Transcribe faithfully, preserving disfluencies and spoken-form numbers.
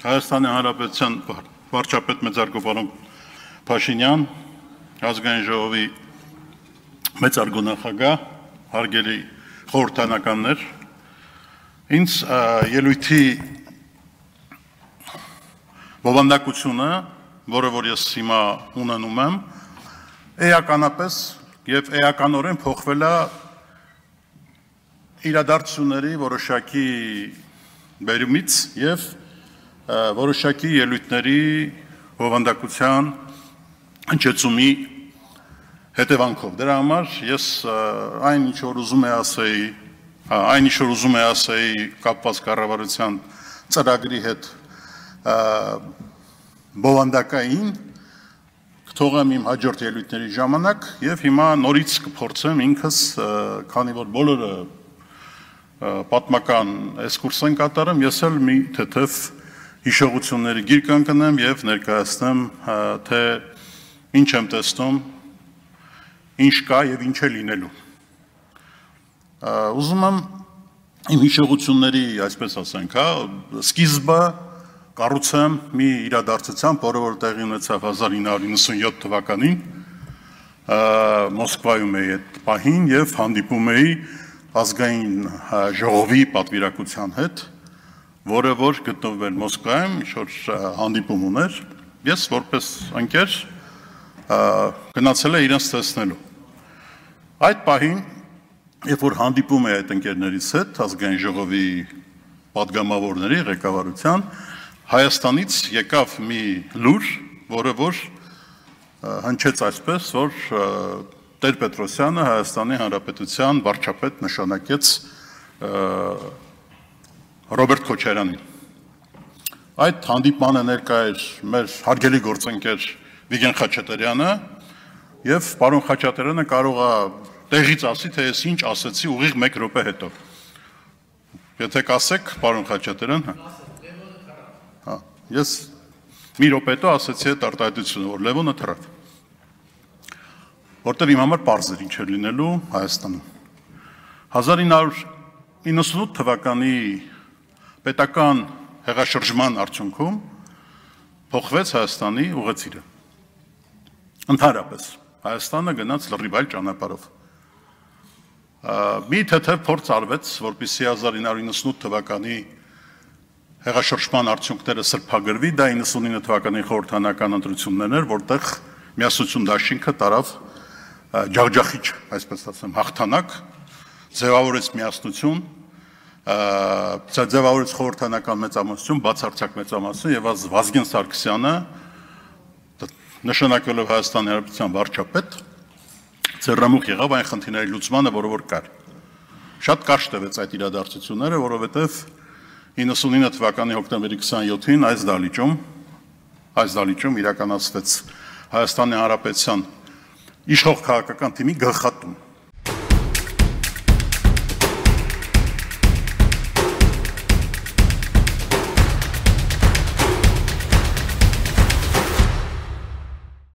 Հայաստանի Հանրապետության վարչապետ մեծարգո պարոն Փաշինյան, ազգային ժողովի մեծարգո նախագահ, հարգելի խորհրդանականներ, ինձ ելույթի բովանդակությունը, որը որ ես հիմա ունենում եմ, էականապես եւ էականորեն փոխվել է իրադարձությունների որոշակի բերումից եւ որոշակի ելույթների բովանդակության հնչեցումի հետևանքով։ Դրա համար ես այն ինչ որ ուզում եմ ասեի, այն ինչ որ ուզում եմ ասեի կապված կառավարության ծրագրի հետ բովանդակային կթողեմ իմ հաջորդ ելույթների ժամանակ եւ հիմա նորից կփորձեմ ինքս, քանի որ բոլորը պատմական էքսկուրս են կատարում, ես էլ մի թեթև հիշողությունների գիր կընկնեմ եւ ներկայացնեմ, թե ինչ եմ տեսնում, ինչ կա եւ ինչ է լինելու։ Ուզում եմ իմ հիշողությունների, այսպես ասենք, հա, սկիզբը կառուցեմ մի իրադարձությամբ, որը որ տեղի ունեցավ հազար ինը հարյուր նվսանյոթ թվականին, Մոսկվայում էի այդ պահին եւ հանդիպում էի ազգային ժողովի պատվիրակության հետ, որը որ գտնվել Մոսկվայում, ինչ-որ հանդիպում ուներ, ես որպես ընկեր գնացել եմ իրենց տեսնելու։ Այդ պահին, երբ որ հանդիպում էի այդ ընկերներից հետ, ազգային ժողովի պատգամավորների ղեկավարության, Հայաստանից եկավ մի լուր, որը որ հնչեց այսպես, որ Տեր-Պետրոսյանը Հայաստանի Հանրապետության վարչապետ նշանակեց Ռոբերտ Քոչարյանին։ Այդ հանդիպմանը ներկա էր մեր հարգելի գործընկեր Վիգեն Խաչատրյանը եւ պարոն Խաչատրյանը կարող է տեղից ասի, թե ես ինչ ասեցի ուղիղ մեկ րոպե հետո։ Եթե կասեք, պարոն Խաչատրյան, հա, ես մի րոպե հետո ասեցի այդ արտահայտությունը, որ Լևոնը թռավ։ Որտեղ իմ համար պարզ էր ինչ էր լինելու Հայաստանում։ հազար ինը հարյուր իննսունութ թվականի պետական հեղաշրջման արդյունքում փոխվեց Հայաստանի ուղղաթիռը։ Ընդհանրապես Հայաստանը գնաց լրիվ այլ ճանապարհով։ Մի թեթև փորձ արվեց, որպեսզի հազար ինը հարյուր իննսունութ թվականի հեղաշրջման արդյունքները սրբագրվի, դա իննսունինը թվականի խորհրդանական ընտրություններն էր, որտեղ Միասնություն դաշինքը տարավ ջախջախիչ, այսպես ասեմ, հաղթանակ, ձևավորեց միասնություն, ձևավորեց խորհրդանական մեծամասնություն, բացարձակ մեծամասնություն եւ Վազգեն Սարգսյանը նշանակելով Հայաստանի Հանրապետության վարչապետ ձեռնամուխ եղավ այն խնդիրների լուծմանը, որը որ կար։ Շատ կարճ տևեց այդ իրադարձությունները, որովհետեւ իննսունինը թվականի հոկտեմբերի քսաներկուին այս դալիճում այս դալիճում իրականացվեց Հայաստանի Հանրապետության իշխող քաղաքական թիմի գլխատում։